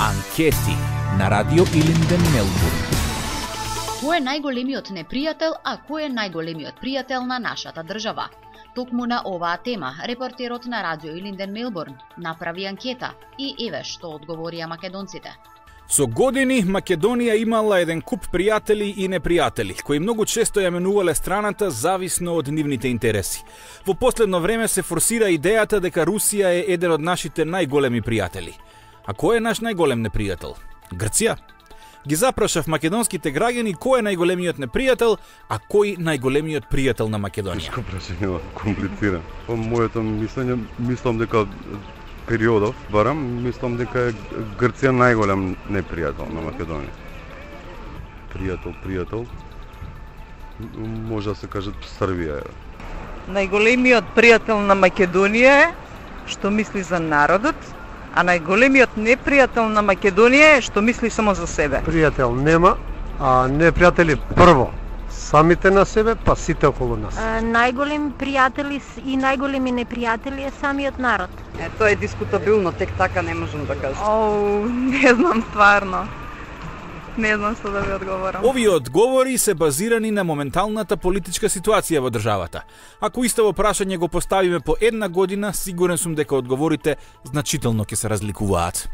Анкети на Радио Илинден, Мелбурн. Кој е најголемиот непријател, а кој е најголемиот пријател на нашата држава? Токму на оваа тема, репортерот на Радио Илинден, Мелбурн направи анкета и еве што одговорија македонците. Со години Македонија имала еден куп пријатели и непријатели, кои многу често ја менувале страната зависно од нивните интереси. Во последно време се форсира идејата дека Русија е еден од нашите најголеми пријатели. А кој е наш најголем непријател? Грција? Ги запрашав македонските граѓани кој е најголемиот непријател, а кој најголемиот пријател на Македонија. Тешко прашање, комплицирано. По моето мислење, мислам дека периодов, барам, мислам дека е Грција најголем непријател на Македонија. Пријател, може да се каже Србија. Најголемиот пријател на Македонија е што мисли за народот, а најголемиот непријател на Македонија е што мисли само за себе. Пријател нема, а непријатели прво самите на себе, па сите околу нас. Најголеми пријатели и најголеми непријатели е самиот народ. Тоа е дискутабилно, тек така не можам да кажам. Не знам стварно. Не знам што да ви одговорам. Овие одговори се базирани на моменталната политичка ситуација во државата. Ако истово прашање го поставиме по една година, сигурен сум дека одговорите значително ќе се разликуваат.